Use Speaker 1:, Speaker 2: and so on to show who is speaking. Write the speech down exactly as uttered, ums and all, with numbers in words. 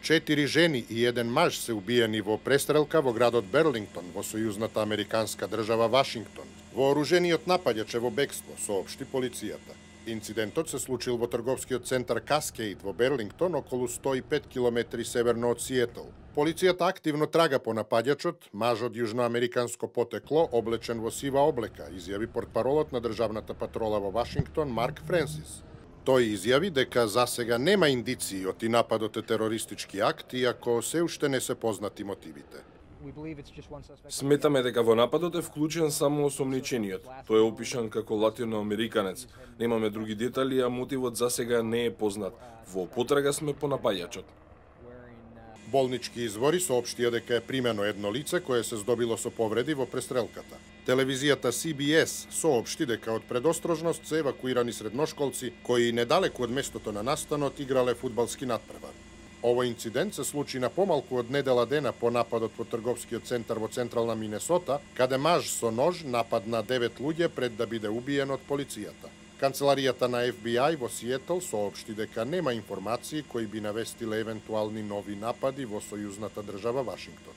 Speaker 1: Четири жени и еден маж се убиени во престрелка во градот Берлингтон во сојузната американска држава Вашингтон. Вооружениот нападач е во бегство, соопшти полицијата. Инцидентот се случил во трговскиот центар Каскейд во Берлингтон, околу сто и пет километри северно од Сиетл. Полицијата активно трага по нападачот, маж од јужноамериканско потекло, облечен во сива облека, изјави портпаролот на државната патрола во Вашингтон Марк Френсис. Тој изјави дека засега нема индиции оти нападот е терористички акт, иако се уште не се познати мотивите.
Speaker 2: Сметаме дека во нападот е вклучен само осомничениот. Тој е опишан како латиноамериканец. Немаме други детали, а мотивот засега не е познат. Во потрага сме по напаѓачот.
Speaker 1: Болнички извори соопштија дека е примено едно лице кое се здобило со повреди во престрелката. Телевизијата Си Би Ес соопшти дека од предострожност се евакуирани средношколци кои недалеку од местото на настанот играле фудбалски натпревар. Овој инцидент се случи на помалку од недела дена по нападот во трговскиот центар во централна Минесота, каде маж со нож нападна девет луѓе пред да биде убиен од полицијата. Канцеларијата на Еф Би Ај во Сиетл соопшти дека нема информации кои би навестиле евентуални нови напади во сојузната држава Вашингтон.